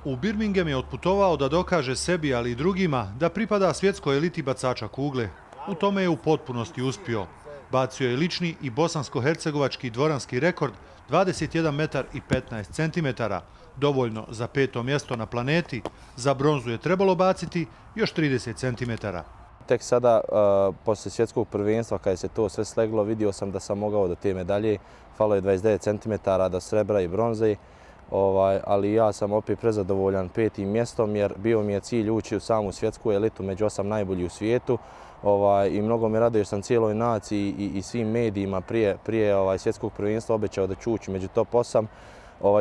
U Birmingham je otputovao da dokaže sebi, ali i drugima, da pripada svjetskoj eliti bacača kugle. U tome je u potpunosti uspio. Bacio je lični i bosansko-hercegovački dvoranski rekord 21 metar i 15 centimetara, dovoljno za 5. mjesto na planeti. Za bronzu je trebalo baciti još 30 centimetara. Tek sada, poslije svjetskog prvenstva, kada se to sve sleglo, vidio sam da sam mogao do te medalje. Falo je 29 cm do srebra i bronze, ali ja sam opet prezadovoljan 5. mjestom jer bio mi je cilj ući u samu svjetsku elitu među 8 najboljih u svijetu. I mnogo me raduje što sam cijeloj naciji i svim medijima prije svjetskog prvenstva obećao da ću ući među top 8.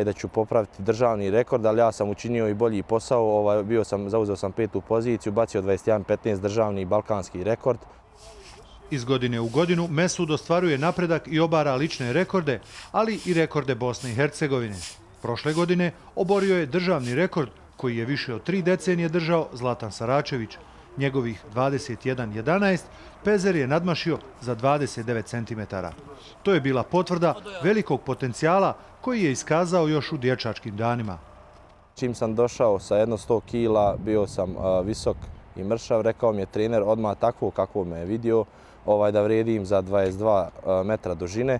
Da ću popraviti državni rekord, ali ja sam učinio i bolji posao. Zauzeo sam 5. poziciju, bacio 21-15 državni balkanski rekord. Iz godine u godinu Mesud ostvaruje napredak i obara lične rekorde, ali i rekorde Bosne i Hercegovine. Prošle godine oborio je državni rekord koji je više od 3 decenije držao Zlatan Saračević. Njegovih 21-11 Pezer je nadmašio za 29 cm. To je bila potvrda velikog potencijala koji je iskazao još u dječačkim danima. Čim sam došao sa jedno 100 kila, bio sam visok i mršav. Rekao mi je trener odmah takvo kako me je vidio, da vrijedim za 22 metra dužine.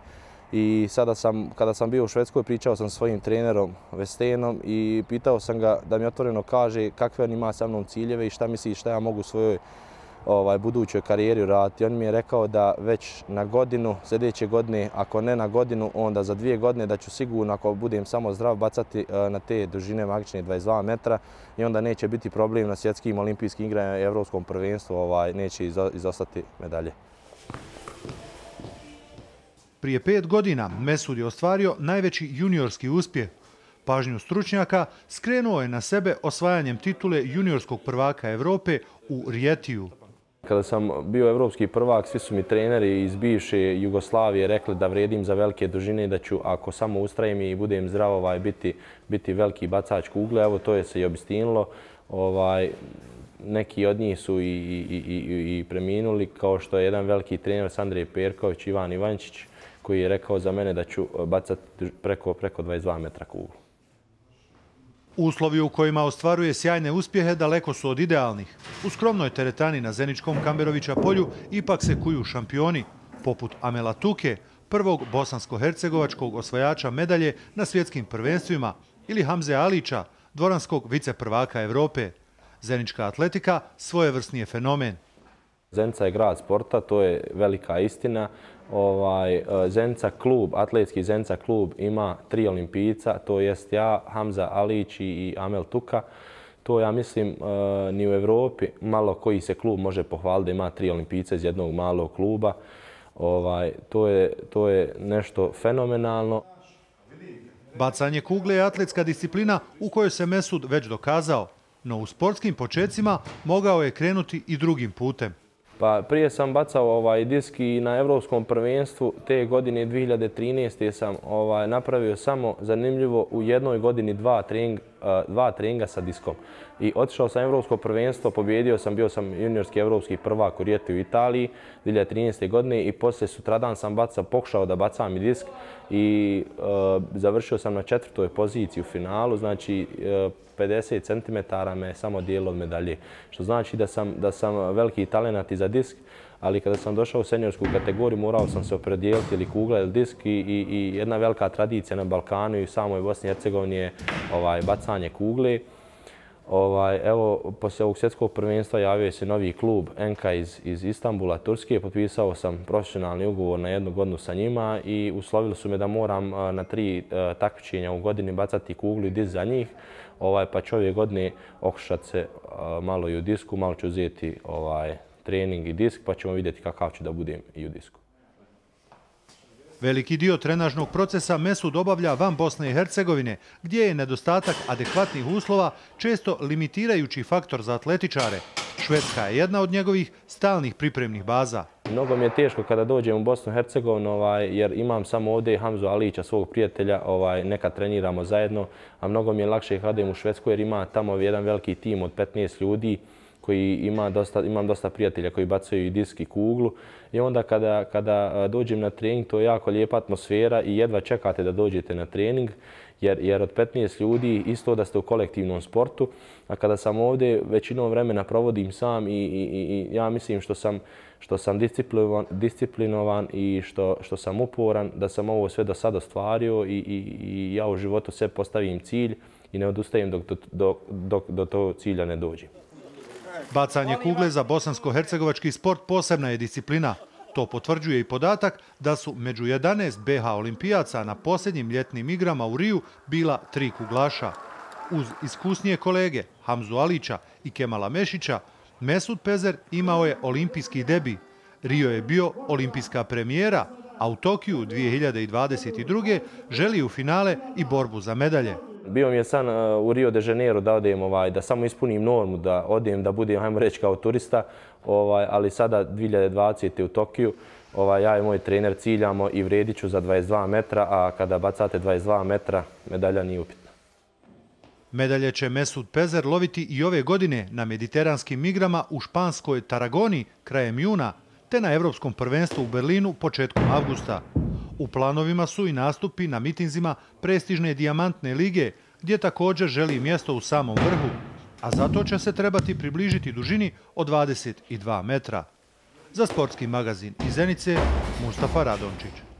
I sada kada sam bio u Švedskoj, pričao sam svojim trenerom Vestenom i pitao sam ga da mi otvoreno kaže kakve on ima sa mnom ciljeve i šta misli šta ja mogu u svojoj budućoj karijeri raditi. On mi je rekao da već na godinu, sljedeće godine, ako ne na godinu, onda za 2 godine da ću sigurno, ako budem samo zdrav, bacati na te dužine magične 22 metra i onda neće biti problem na svjetskim olimpijskim igrama i evropskom prvenstvu, neće izostati medalje. Prije 5 godina Mesud je ostvario najveći juniorski uspjeh. Pažnju stručnjaka skrenuo je na sebe osvajanjem titule juniorskog prvaka Evrope u Rijetiju. Kada sam bio evropski prvak, svi su mi treneri iz bivše Jugoslavije rekli da vrijedim za velike dužine i da ću, ako samo ustrajem i budem zdrav, biti veliki bacač kugle. Evo, to je se i obistinilo. Neki od njih su i preminuli, kao što je jedan veliki trener Andrej Perković, Ivan Ivančić, koji je rekao za mene da ću bacati preko 22 metra kuglu. Uslovi u kojima ostvaruje sjajne uspjehe daleko su od idealnih. U skromnoj teretani na Zeničkom Kamberovića polju ipak se kuju šampioni, poput Amela Tuke, prvog bosansko-hercegovačkog osvajača medalje na svjetskim prvenstvima, ili Hamze Alića, dvoranskog viceprvaka Evrope. Zenička atletika svojevrsni je fenomen. Zenica je grad sporta, to je velika istina. Zenica klub, atletski Zenica klub ima 3 olimpijca, to jest ja, Hamza Alić i Amel Tuka. To ja mislim ni u Evropi malo koji se klub može pohvaliti da ima 3 olimpijca iz jednog malog kluba. To je nešto fenomenalno. Bacanje kugle je atletska disciplina u kojoj se Mesud već dokazao, no u sportskim počecima mogao je krenuti i drugim putem. Pa prije sam bacao disk i na evropskom prvenstvu te godine 2013. sam napravio samo zanimljivo u jednoj godini 2 treninga sa diskom. I otišao sam evropsko prvenstvo, pobjedio sam, bio sam juniorski evropski prvak u Rijeti u Italiji 2013. godine i poslije sutradan sam pokušao da bacam i disk i završio sam na 4. poziciji u finalu, znači 50 cm me samo dijelo od medalje. Što znači da sam veliki talenat i za disk, ali kada sam došao u seniorsku kategoriju morao sam se opredijeliti ili kugla ili disk i jedna velika tradicija na Balkanu i u samoj Bosni i Hercegovini je bacanje kugle. Evo, poslije ovog svjetskog prvenstva javio se novi klub Enka iz Istanbula, Turske. Potpisao sam profesionalni ugovor na 1 godinu sa njima i uslovili su me da moram na 3 takmičenja u godini bacati kuglu i disk za njih. Pa ću ove godine okušati se malo i u disku, malo ću uzeti trening i disk, pa ćemo vidjeti kakav ću da budem i u disku. Veliki dio trenažnog procesa Mesud obavlja van Bosne i Hercegovine, gdje je nedostatak adekvatnih uslova često limitirajući faktor za atletičare. Švedska je jedna od njegovih stalnih pripremnih baza. Mnogo mi je teško kada dođem u Bosnu i Hercegovinu jer imam samo ovdje Hamzu Alića, svog prijatelja, nekad treniramo zajedno, a mnogo mi je lakše kada idem u Švedsku jer ima tamo jedan veliki tim od 15 ljudi koji imam dosta prijatelja koji bacaju i disk i kuglu. I onda kada dođem na trening, to je jako lijepa atmosfera i jedva čekate da dođete na trening, jer od 15 ljudi isto da ste u kolektivnom sportu, a kada sam ovdje većinom vremena provodim sam i ja mislim što sam disciplinovan i što sam uporan, da sam ovo sve do sada ostvario i ja u životu sve postavim cilj i ne odustajem dok do tog cilja ne dođem. Bacanje kugle za bosansko-hercegovački sport posebna je disciplina. To potvrđuje i podatak da su među 11 BH olimpijaca na posljednjim ljetnim igrama u Riju bila 3 kuglaša. Uz iskusnije kolege Hamzu Alića i Kemala Mešića, Mesud Pezer imao je olimpijski debi. Rio je bio olimpijska premijera, a u Tokiju 2022. želi u finale i borbu za medalje. Bio mi je san u Rio de Janeiro da odem, da samo ispunim normu, da odem, da budem, hajmo reći, kao turista, ali sada 2020. u Tokiju, ja i moj trener ciljamo i vredit ću za 22 metra, a kada bacate 22 metra, medalja nije upitna. Medalje će Mesud Pezer loviti i ove godine na mediteranskim igrama u španskoj Taragoni krajem juna, te na Evropskom prvenstvu u Berlinu početkom avgusta. U planovima su i nastupi na mitinzima prestižne dijamantne lige, gdje također želi mjesto u samom vrhu, a zato će se trebati približiti dužini od 22 metra. Za sportski magazin iz Zenice, Mustafa Radončić.